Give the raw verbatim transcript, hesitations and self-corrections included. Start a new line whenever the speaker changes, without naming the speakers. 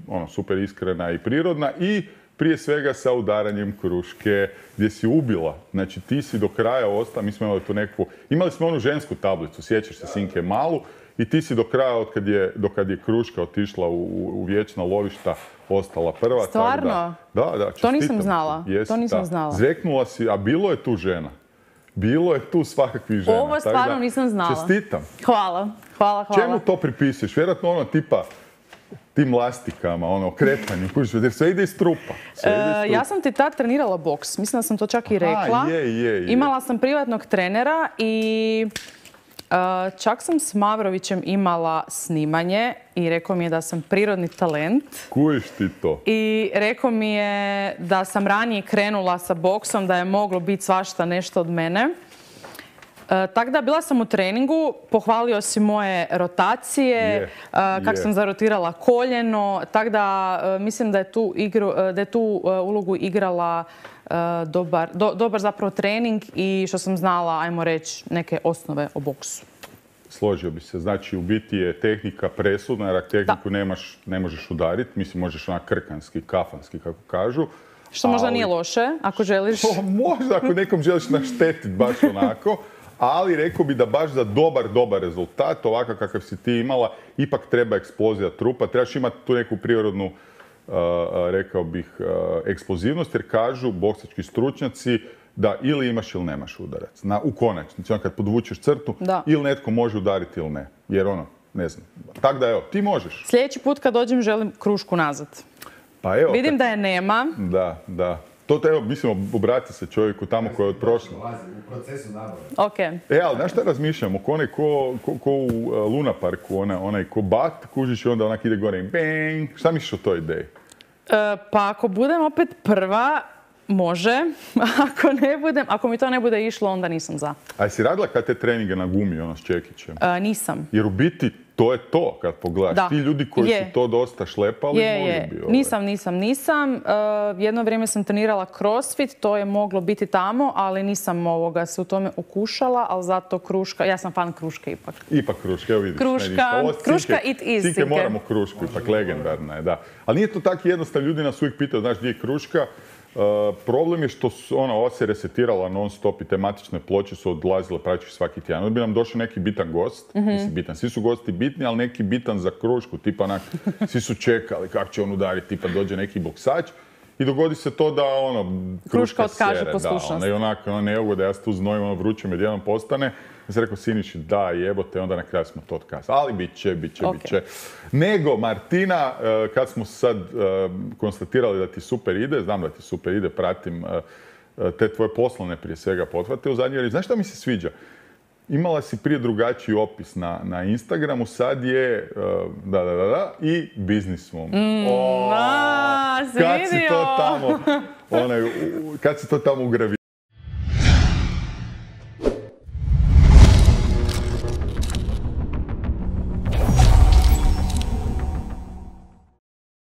Ono, super iskrena i prirodna i prije svega sa udaranjem kruške gdje si ubila. Znači ti si do kraja ostala, mi smo imali tu nekakvu, imali smo onu žensku tablicu, sjećaš se Sinke malu, i ti si do kraja, od kad je, do kad je kruška otišla u, u vječna lovišta, ostala prva.
Stvarno?
Da, da, da,
to nisam znala.
Jesi,
to nisam
da.
znala.
Zveknula si, a bilo je tu žena. Bilo je tu svakakvih žena.
Ovo stvarno nisam znala.
Čestitam.
Hvala, hvala, hvala.
Čemu to pripisuješ? Vjerojatno ono tipa tim lastikama, ono, kretanju, jer sve ide iz trupa. Sve ide iz trupa.
Ja sam ti tad trenirala boks, mislim da sam to čak i rekla.
A, je, je, je.
Imala sam privatnog trenera i uh, čak sam s Mavrovićem imala snimanje i rekao mi je da sam prirodni talent.
Kujiš ti to?
I rekao mi je da sam ranije krenula sa boksom, da je moglo biti svašta nešto od mene. E, tako da bila sam u treningu, pohvalio si moje rotacije,
yeah,
e, kako
yeah.
sam zarotirala koljeno, tako da e, mislim da je tu, igru, da je tu e, ulogu igrala e, dobar, do, dobar zapravo trening i što sam znala, ajmo reći, neke osnove o boksu.
Složio bi se. Znači, u biti je tehnika presudna, jer ako tehniku nemaš, ne možeš udariti. Mislim, možeš onak krkanski, kafanski, kako kažu.
Što možda ali... nije loše, ako želiš.
O, možda, ako nekom želiš naštetiti baš onako. Ali rekao bi da baš za dobar, dobar rezultat, ovakav kakav si ti imala, ipak treba eksplozija trupa. Trebaš imati tu neku prirodnu, uh, rekao bih, uh, eksplozivnost, jer kažu boksački stručnjaci da ili imaš ili nemaš udarac. Na, u konačnici, on kad podvučeš crtu,
da.
Ili netko može udariti ili ne. Jer ono, ne znam. Tako da evo, ti možeš.
Sljedeći put kad dođem želim krušku nazad.
Pa evo.
Vidim
kad...
da je nema.
Da, da. To evo, mislim, obrati se čovjeku tamo koji je od prošle.
U procesu nabave.
Ok.
E, ali znaš šta razmišljamo? Ko onaj ko, ko, ko u uh, Luna Parku, onaj, onaj ko bat, kužiš i onda onak ide gore i bang. Šta misliš o toj ideji?
E, pa ako budem opet prva, može. Ako ne budem, ako mi to ne bude išlo, onda nisam za.
A jesi radila kad te treninge na gumi, ono s Čekićem?
E, nisam.
Jer u biti to je to kad pogledaš.
Da.
Ti ljudi koji
je.
su to dosta šlepali,
je,
mogli
je.
bi. Ovaj.
Nisam, nisam, nisam. Uh, jedno vrijeme sam trenirala crossfit, to je moglo biti tamo, ali nisam ovoga se u tome ukušala, ali zato kruška, ja sam fan kruške ipak.
Ipak kruška, evo vidiš.
Kruška,
Ovo,
kruška it is.
Sinke moramo krušku, ipak legendarna je, da. Ali nije to tako jednostavno, ljudi nas uvijek pitaju, znaš gdje je kruška. Uh, problem je što su, ona, ova se resetirala non stop i tematične ploče su odlazile praktički svaki tjedan. Onda bi nam došao neki bitan gost, mm-hmm. mislim bitan, svi su gosti bitni, ali neki bitan za krušku, tipa onak, svi su čekali kako će on udariti, tipa dođe neki boksač i dogodi se to da ono, kruška,
kruška otkaže
sere,
poslušnost.
Da, ona, i onako, ono, ne mogu da ja se tu znojim, ono vruće med jedan postane. Ja sam rekao, Siniši, da, jebote, onda na kraju smo to otkazali. Ali bit će, bit će,
okay.
bit će. Nego, Martina, kad smo sad konstatirali da ti super ide, znam da ti super ide, pratim te tvoje poslovne prije svega pothvate u zadnjoj. Znaš šta mi se sviđa? Imala si prije drugačiji opis na, na Instagramu, sad je da, da, da, da, i businesswoman.
Mm,
o,
a,
kad si to tamo, onaj, kad si to tamo ugravirala?